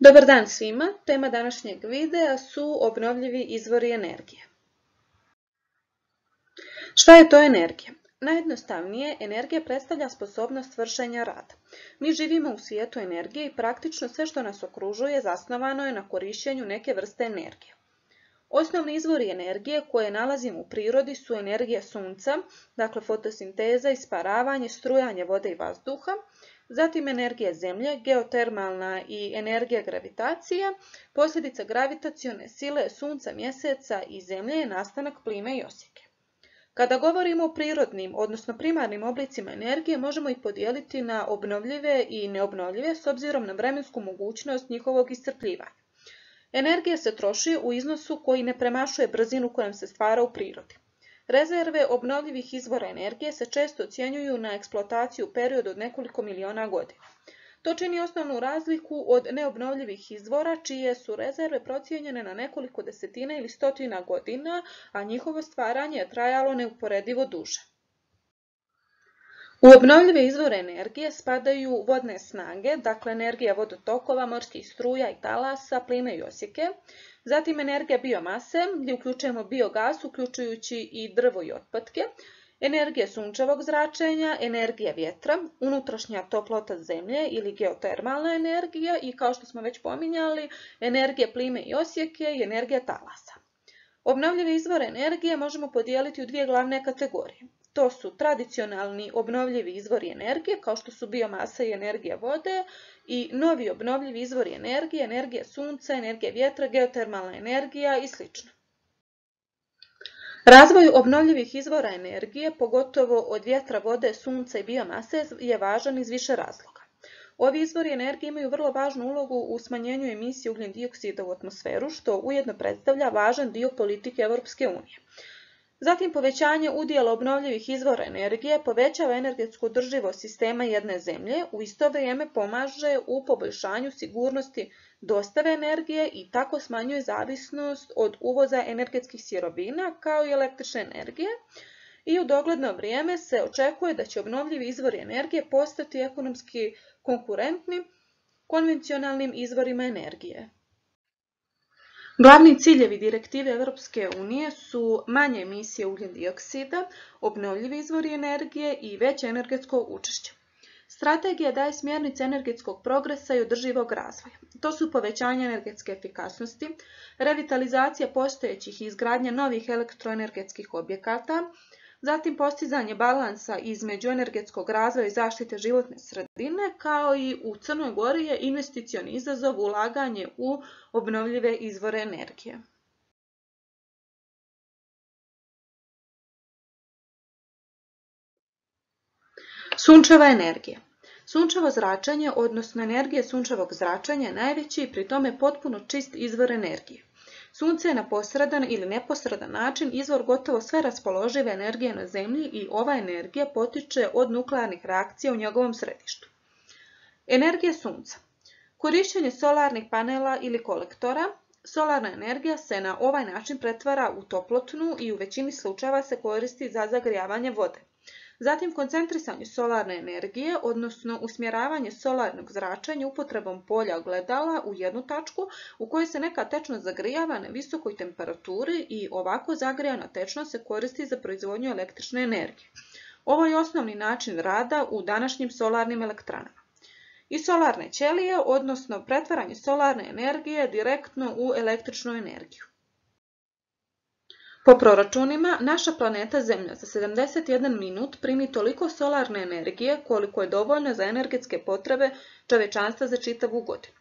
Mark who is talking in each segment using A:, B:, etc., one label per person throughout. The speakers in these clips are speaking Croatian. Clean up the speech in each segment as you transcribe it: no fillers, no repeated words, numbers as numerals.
A: Dobar dan svima, tema današnjeg videa su obnovljivi izvori energije. Šta je to energija? Najjednostavnije, energija predstavlja sposobnost vršenja rada. Mi živimo u svijetu energije i praktično sve što nas okružuje zasnovano je na korištenju neke vrste energije. Osnovni izvori energije koje nalazimo u prirodi su energija sunca, dakle fotosinteza, isparavanje, strujanje vode i vazduha, zatim energija zemlje, geotermalna i energija gravitacije. Posljedica gravitacione sile sunca, mjeseca i zemlje je nastanak plime i oseke. Kada govorimo o prirodnim, odnosno primarnim oblicima energije, možemo ih podijeliti na obnovljive i neobnovljive s obzirom na vremensku mogućnost njihovog iscrpljivanja. Energija se troši u iznosu koji ne premašuje brzinu kojom se stvara u prirodi. Rezerve obnovljivih izvora energije se često ocjenjuju na eksploataciju u periodu od nekoliko miliona godina. To čini osnovnu razliku od neobnovljivih izvora čije su rezerve procijenjene na nekoliko desetina ili stotina godina, a njihovo stvaranje je trajalo neuporedivo duže. U obnovljive izvore energije spadaju vodne snage, dakle energija vodotokova, morskih struja i talasa, plime i oseke, zatim energija biomase, gdje uključujemo biogas, uključujući i drvo i otpadke, energija sunčevog zračenja, energija vjetra, unutrašnja toplota zemlje ili geotermalna energija i, kao što smo već pominjali, energija plime i oseke i energija talasa. Obnovljive izvore energije možemo podijeliti u dvije glavne kategorije. To su tradicionalni obnovljivi izvori energije, kao što su biomasa i energija vode, i novi obnovljivi izvori energije, energija sunca, energija vjetra, geotermalna energija i sl. Razvoj obnovljivih izvora energije, pogotovo od vjetra, vode, sunca i biomase, je važan iz više razloga. Ovi izvori energije imaju vrlo važnu ulogu u smanjenju emisije ugljen dioksida u atmosferu, što ujedno predstavlja važan dio politike Europske unije. Zatim, povećanje udjela obnovljivih izvora energije povećava energetsku održivost sistema jedne zemlje, u isto vrijeme pomaže u poboljšanju sigurnosti dostave energije i tako smanjuje zavisnost od uvoza energetskih sirovina kao i električne energije. I u dogledno vrijeme se očekuje da će obnovljivi izvori energije postati ekonomski konkurentni konvencionalnim izvorima energije. Glavni ciljevi direktive Europske unije su manje emisije ugljen dioksida, obnovljivi izvori energije i veće energetsko učešće. Strategija daje smjernice energetskog progresa i održivog razvoja. To su povećanje energetske efikasnosti, revitalizacija postojećih i izgradnja novih elektroenergetskih objekata, zatim postizanje balansa između energetskog razvoja i zaštite životne sredine, kao i u Crnoj Gori je investicioni izazov ulaganje u obnovljive izvore energije. Sunčeva energija. Sunčevo zračenje, odnosno energija sunčevog zračenja, je najveći i pri tome potpuno čist izvor energije. Sunce je na posredan ili neposredan način izvor gotovo sve raspoložive energije na Zemlji i ova energija potiče od nuklearnih reakcija u njegovom središtu. Energija sunca. Korištenje solarnih panela ili kolektora. Solarna energija se na ovaj način pretvara u toplotnu i u većini slučajeva se koristi za zagrijavanje vode. Zatim, koncentrisanje solarne energije, odnosno usmjeravanje solarnog zračenja upotrebom polja ogledala u jednu tačku u kojoj se neka tečnost zagrijava na visokoj temperaturi i ovako zagrijana tečnost se koristi za proizvodnju električne energije. Ovo je osnovni način rada u današnjim solarnim elektranama. I solarne ćelije, odnosno pretvaranje solarne energije direktno u električnu energiju. Po proračunima, naša planeta Zemlja za 71 minut primi toliko solarne energije koliko je dovoljno za energetske potrebe čovječanstva za čitavu godinu.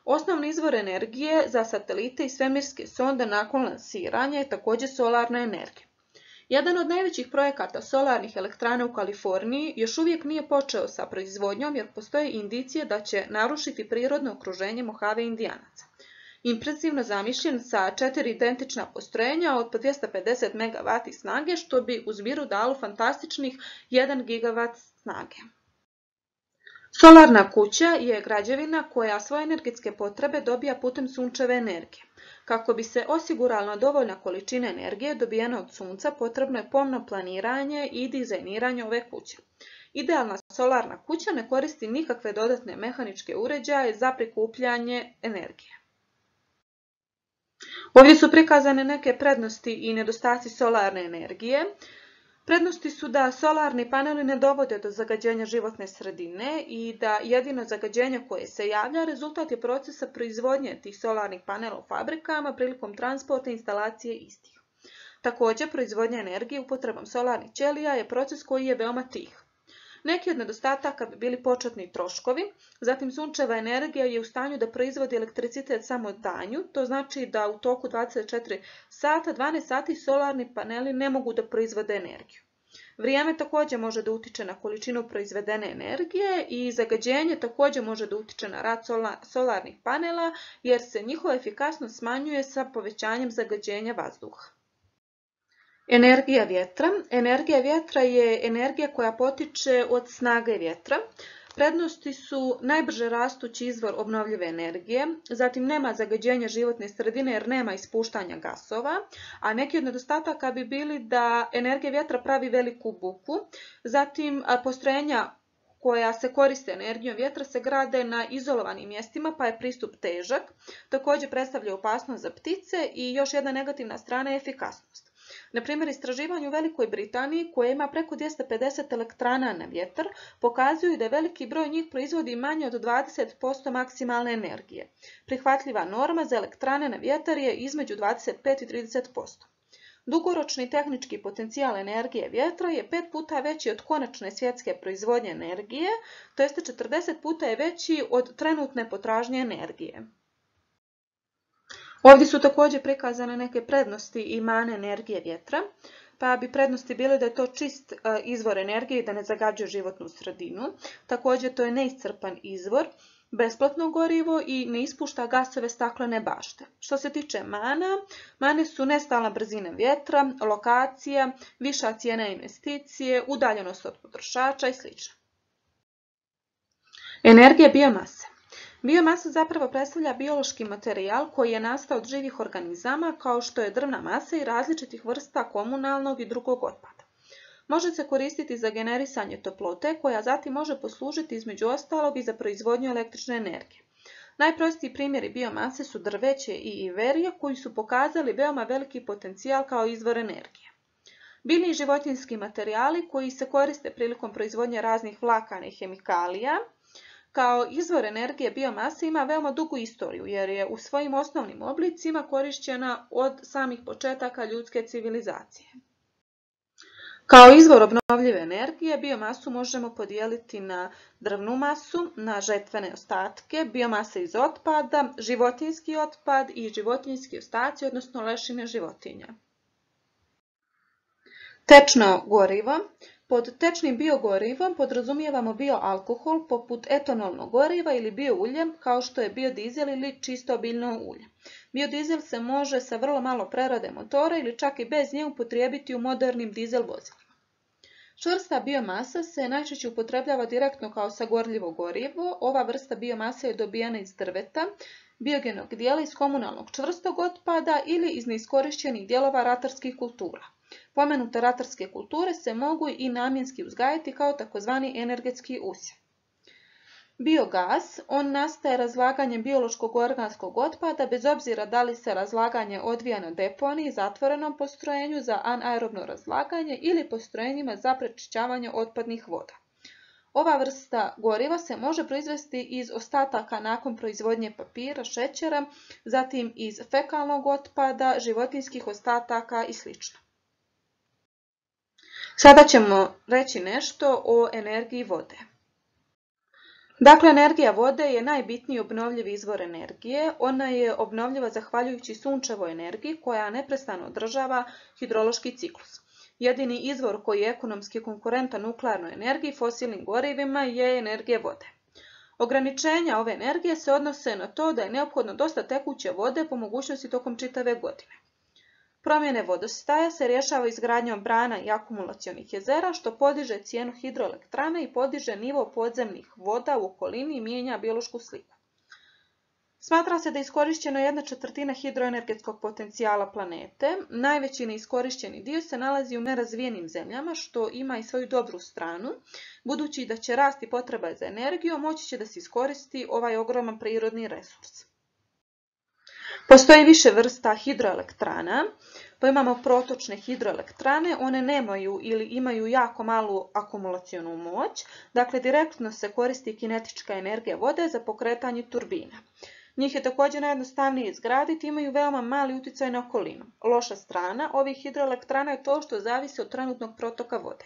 A: Osnovni izvor energije za satelite i svemirske sonde nakon lansiranja je također solarna energija. Jedan od najvećih projekata solarnih elektrana u Kaliforniji još uvijek nije počeo sa proizvodnjom jer postoje indicije da će narušiti prirodno okruženje Mohave Indijanaca. Impresivno zamišljen sa 4 identična postrojenja od po 250 MW snage, što bi u zbiru dalo fantastičnih 1 GW snage. Solarna kuća je građevina koja svoje energetske potrebe dobija putem sunčeve energije. Kako bi se osigurala dovoljna količina energije dobijena od sunca, potrebno je pomno planiranje i dizajniranje ove kuće. Idealna solarna kuća ne koristi nikakve dodatne mehaničke uređaje za prikupljanje energije. Ovdje su prikazane neke prednosti i nedostaci solarne energije. Prednosti su da solarni paneli ne dovode do zagađenja životne sredine i da jedino zagađenje koje se javlja rezultat je procesa proizvodnje tih solarnih panela u fabrikama prilikom transporta i instalacije istih. Također, proizvodnja energije upotrebom solarnih ćelija je proces koji je veoma tih. Neki od nedostataka bi bili početni troškovi, zatim sunčeva energija je u stanju da proizvodi elektricitet samo danju, to znači da u toku 24 sata, 12 sati solarni paneli ne mogu da proizvode energiju. Vrijeme također može da utiče na količinu proizvedene energije i zagađenje također može da utiče na rad solarnih panela jer se njihova efikasnost smanjuje sa povećanjem zagađenja vazduha. Energija vjetra. Energija vjetra je energija koja potiče od snage vjetra. Prednosti su najbrže rastući izvor obnovljive energije, zatim nema zagađenja životne sredine jer nema ispuštanja gasova, a neki od nedostataka bi bili da energija vjetra pravi veliku buku, zatim postrojenja koja se koriste energijom vjetra se grade na izolovanim mjestima pa je pristup težak, također predstavlja opasnost za ptice i još jedna negativna strana je efikasnost. Na primjer, istraživanje u Velikoj Britaniji, koje ima preko 250 elektrana na vjetar, pokazuju da veliki broj njih proizvodi manje od 20% maksimalne energije. Prihvatljiva norma za elektrane na vjetar je između 25 i 30%. Dugoročni tehnički potencijal energije vjetra je 5 puta veći od konačne svjetske proizvodnje energije, to jest 40 puta je veći od trenutne potražnje energije. Ovdje su također prikazane neke prednosti i mane energije vjetra, pa bi prednosti bile da je to čist izvor energije i da ne zagađuje životnu sredinu. Također to je neiscrpan izvor, besplatno gorivo i ne ispušta gasove staklene bašte. Što se tiče mane su nestalna brzina vjetra, lokacija, viša cijena investicije, udaljenost od potrošača i sl. Energija biomase. Biomasa zapravo predstavlja biološki materijal koji je nastao od živih organizama kao što je drvna masa i različitih vrsta komunalnog i drugog otpada. Može se koristiti za generisanje toplote koja zatim može poslužiti između ostalog i za proizvodnju električne energije. Najprostiji primjeri biomase su drveće i iverija koji su pokazali veoma veliki potencijal kao izvor energije. Biljni i životinjski materijali koji se koriste prilikom proizvodnje raznih vlakana i hemikalija. Kao izvor energije biomase ima veoma dugu istoriju jer je u svojim osnovnim oblicima korišćena od samih početaka ljudske civilizacije. Kao izvor obnovljive energije biomasu možemo podijeliti na drvnu masu, na žetvene ostatke, biomase iz otpada, životinjski otpad i životinjski ostaci, odnosno lešine životinja. Tečno gorivo. Pod tečnim biogorivom podrazumijevamo bioalkohol poput etanolnog goriva ili bioulje kao što je biodizel ili čisto biljno ulje. Biodizel se može sa vrlo malo prerade motora ili čak i bez nje upotrijebiti u modernim dizel vozilima. Čvrsta biomasa se najčešće upotrebljava direktno kao sagorljivo gorivo. Ova vrsta biomase je dobijena iz drveta, biogenog dijela iz komunalnog čvrstog otpada ili iz neiskorišćenih dijelova ratarskih kultura. Pomenute ratarske kulture se mogu i namjenski uzgajati kao takozvani energetski usjev. Biogas, on nastaje razlaganjem biološkog organskog otpada bez obzira da li se razlaganje odvija na deponiji, zatvorenom postrojenju za anaerobno razlaganje ili postrojenjima za prečišćavanje otpadnih voda. Ova vrsta goriva se može proizvesti iz ostataka nakon proizvodnje papira, šećera, zatim iz fekalnog otpada, životinjskih ostataka i sl. Sada ćemo reći nešto o energiji vode. Dakle, energija vode je najbitniji obnovljivi izvor energije. Ona je obnovljiva zahvaljujući sunčevoj energiji koja neprestano održava hidrološki ciklus. Jedini izvor koji je ekonomski konkurentan nuklearnoj energiji, fosilnim gorivima, je energija vode. Ograničenja ove energije se odnose na to da je neophodno dosta tekuće vode po mogućnosti tokom čitave godine. Promjene vodostaja se rješava izgradnjom brana i akumulacionih jezera, što podiže cijenu hidroelektrana i podiže nivo podzemnih voda u okolini i mijenja biološku sliku. Smatra se da je iskorišteno 1/4 hidroenergetskog potencijala planete. Najveći neiskorišteni dio se nalazi u nerazvijenim zemljama, što ima i svoju dobru stranu. Budući da će rasti potreba za energijom, moći će da se iskoristi ovaj ogroman prirodni resurs. Postoji više vrsta hidroelektrana, pa imamo protočne hidroelektrane, one nemaju ili imaju jako malu akumulacionu moć, dakle direktno se koristi kinetička energija vode za pokretanje turbina. Njih je također najjednostavnije izgraditi, imaju veoma mali utjecaj na okolinu. Loša strana ovih hidroelektrana je to što zavisi od trenutnog protoka vode.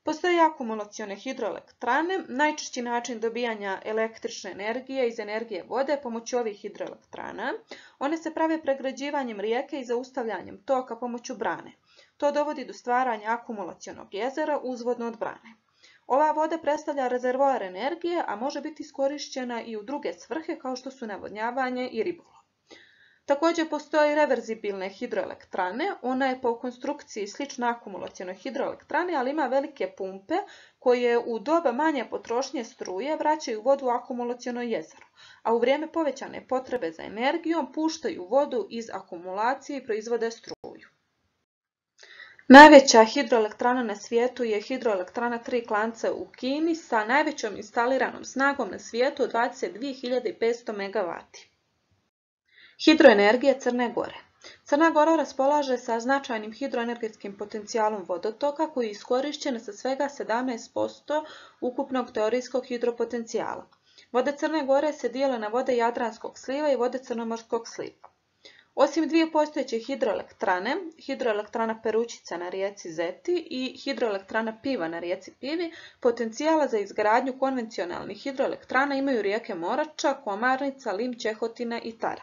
A: Postoje akumulacione hidroelektrane, najčešći način dobijanja električne energije iz energije vode pomoću ovih hidroelektrana. One se prave pregrađivanjem rijeke i zaustavljanjem toka pomoću brane. To dovodi do stvaranja akumulacionog jezera uzvodno od brane. Ova voda predstavlja rezervoar energije, a može biti iskorišćena i u druge svrhe kao što su navodnjavanje i ribolov. Također postoje reverzibilne hidroelektrane, ona je po konstrukciji slična akumulacionoj hidroelektrani, ali ima velike pumpe koje u doba manje potrošnje struje vraćaju vodu u akumulaciono jezero, a u vrijeme povećane potrebe za energijom puštaju vodu iz akumulacije i proizvode struju. Najveća hidroelektrana na svijetu je hidroelektrana Tri Klanca u Kini sa najvećom instaliranom snagom na svijetu od 22.500 MW. Hidroenergija Crne Gore. Crna Gora raspolaže sa značajnim hidroenergetskim potencijalom vodotoka koji je iskorišćen sa svega 17% ukupnog teorijskog hidropotencijala. Vode Crne Gore se dijele na vode Jadranskog sliva i vode Crnomorskog sliva. Osim dvije postojeće hidroelektrane, hidroelektrana Perućica na rijeci Zeti i hidroelektrana Piva na rijeci Pivi, potencijala za izgradnju konvencionalnih hidroelektrana imaju rijeke Morača, Komarnica, Lim, Čehotina i Tara.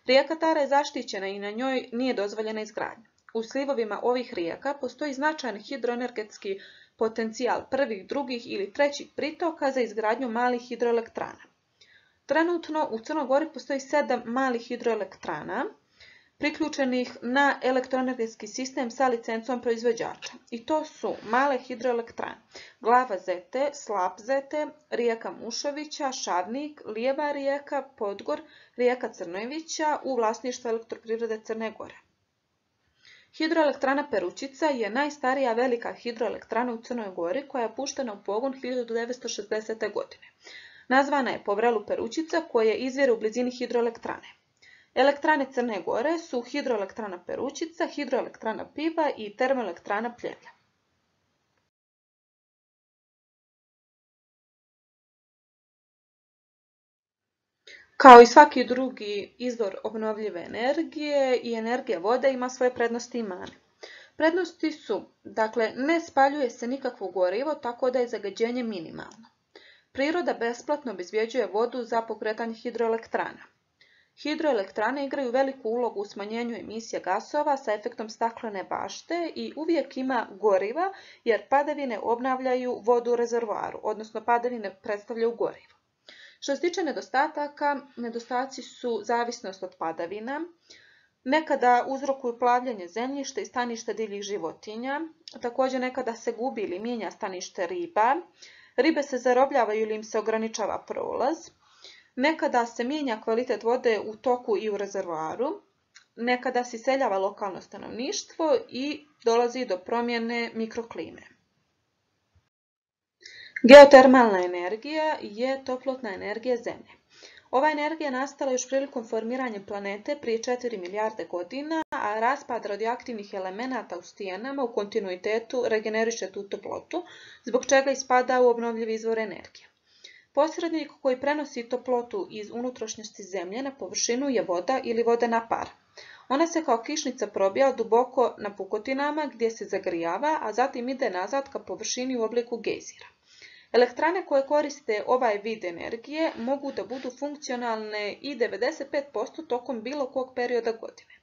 A: Rijeka Tara je zaštićena i na njoj nije dozvoljena izgradnja. U slivovima ovih rijeka postoji značajan hidroenergetski potencijal prvih, drugih ili trećih pritoka za izgradnju malih hidroelektrana. Trenutno u Crnoj Gori postoji 7 malih hidroelektrana priključenih na elektroenergetski sistem sa licencom proizvođača. I to su male hidroelektrane Glava Zete, Slap Zete, rijeka Mušovića, Šavnik, Lijeva rijeka, Podgor, rijeka Crnojevića u vlasništvu Elektroprivrede Crne Gore. Hidroelektrana Perućica je najstarija velika hidroelektrana u Crnoj Gori koja je puštena u pogon 1960. godine. Nazvana je po vrelu Perućica koje izvire u blizini hidroelektrane. Elektrane Crne Gore su hidroelektrana Perućica, hidroelektrana Piva i termoelektrana Pljevlja. Kao i svaki drugi izvor obnovljive energije i energija vode ima svoje prednosti i mane. Prednosti su, dakle, ne spaljuje se nikakvo gorivo tako da je zagađenje minimalno. Priroda besplatno obezbjeđuje vodu za pokretanje hidroelektrana. Hidroelektrane igraju veliku ulogu u smanjenju emisija gasova sa efektom staklene bašte i uvijek ima goriva jer padavine obnavljaju vodu u rezervoaru, odnosno padavine predstavljaju gorivo. Što se tiče nedostataka, nedostaci su zavisnost od padavina, nekada uzrokuju plavljanje zemljišta i staništa divljih životinja, također nekada se gubi ili mijenja stanište riba, ribe se zarobljavaju ili im se ograničava prolaz, nekada se mijenja kvalitet vode u toku i u rezervoaru, nekada se iseljava lokalno stanovništvo i dolazi do promjene mikroklime. Geotermalna energija je toplotna energija Zemlje. Ova energija je nastala još prilikom formiranja planete prije 4 milijarde godina, a raspad radioaktivnih elemenata u stijenama u kontinuitetu regeneriše tu toplotu, zbog čega ispada u obnovljivi izvor energije. Posrednik koji prenosi toplotu iz unutrašnjosti Zemlje na površinu je voda ili vodena para. Ona se kao kišnica probija duboko na pukotinama gdje se zagrijava, a zatim ide nazad ka površini u obliku gejzira. Elektrane koje koriste ovaj vid energije mogu da budu funkcionalne i 95% tokom bilo kog perioda godine.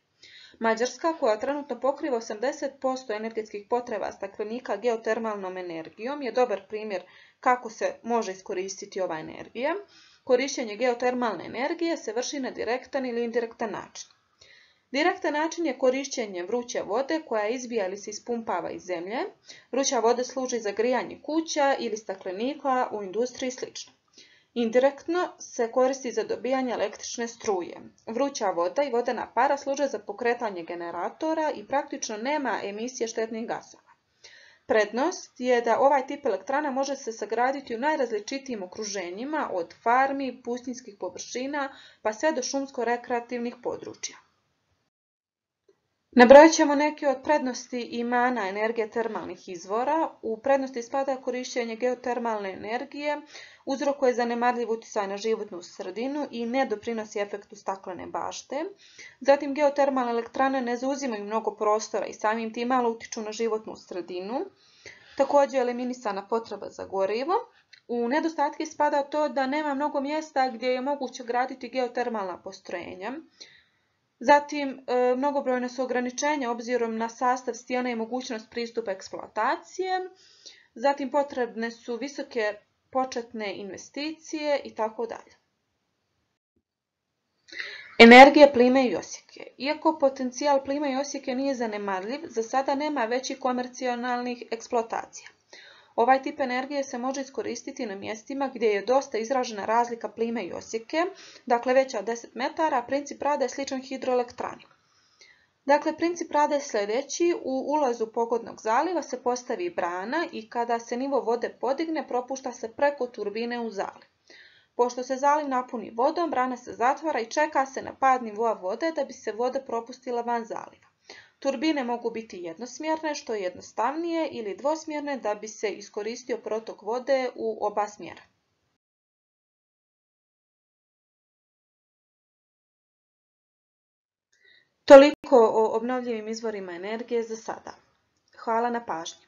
A: Mađarska, koja trenutno pokriva 80% energetskih potreba staklenika geotermalnom energijom, je dobar primjer kako se može iskoristiti ova energija. Korištenje geotermalne energije se vrši na direktan ili indirektan način. Direktan način je korištenje vruće vode koja izbija ili se ispumpava iz zemlje. Vruća voda služi za grijanje kuća ili staklenika u industriji i sl. Indirektno se koristi za dobijanje električne struje. Vruća voda i vodena para služe za pokretanje generatora i praktično nema emisije štetnih gasova. Prednost je da ovaj tip elektrana može se sagraditi u najrazličitijim okruženjima, od farmi, pustinjskih površina pa sve do šumsko-rekreativnih područja. Nabrojat ćemo neke od prednosti i mana energije termalnih izvora. U prednosti spada korištenje geotermalne energije, uzrokuje zanemarljiv utjecaj na životnu sredinu i ne doprinosi efektu staklene bašte. Zatim, geotermalne elektrane ne zauzimaju mnogo prostora i samim tim malo utiču na životnu sredinu. Također je eliminisana potreba za gorivo. U nedostatke spada to da nema mnogo mjesta gdje je moguće graditi geotermalna postrojenja. Zatim, mnogobrojna su ograničenja obzirom na sastav stijena i mogućnost pristupa eksploatacije. Zatim, potrebne su visoke početne investicije itd. Energija plime i oseke. Iako potencijal plime i oseke nije zanemarljiv, za sada nema većih komercijalnih eksploatacija. Ovaj tip energije se može iskoristiti na mjestima gdje je dosta izražena razlika plime i oseke, dakle veća od 10 metara, a princip rada je sličan hidroelektrani. Dakle, princip rada je sljedeći: u ulazu pogodnog zaliva se postavi brana i kada se nivo vode podigne, propušta se preko turbine u zaliv. Pošto se zaliv napuni vodom, brana se zatvara i čeka se na pad nivoa vode da bi se voda propustila van zaliva. Turbine mogu biti jednosmjerne, što je jednostavnije, ili dvosmjerne da bi se iskoristio protok vode u oba smjera. Toliko o obnovljivim izvorima energije za sada. Hvala na pažnji.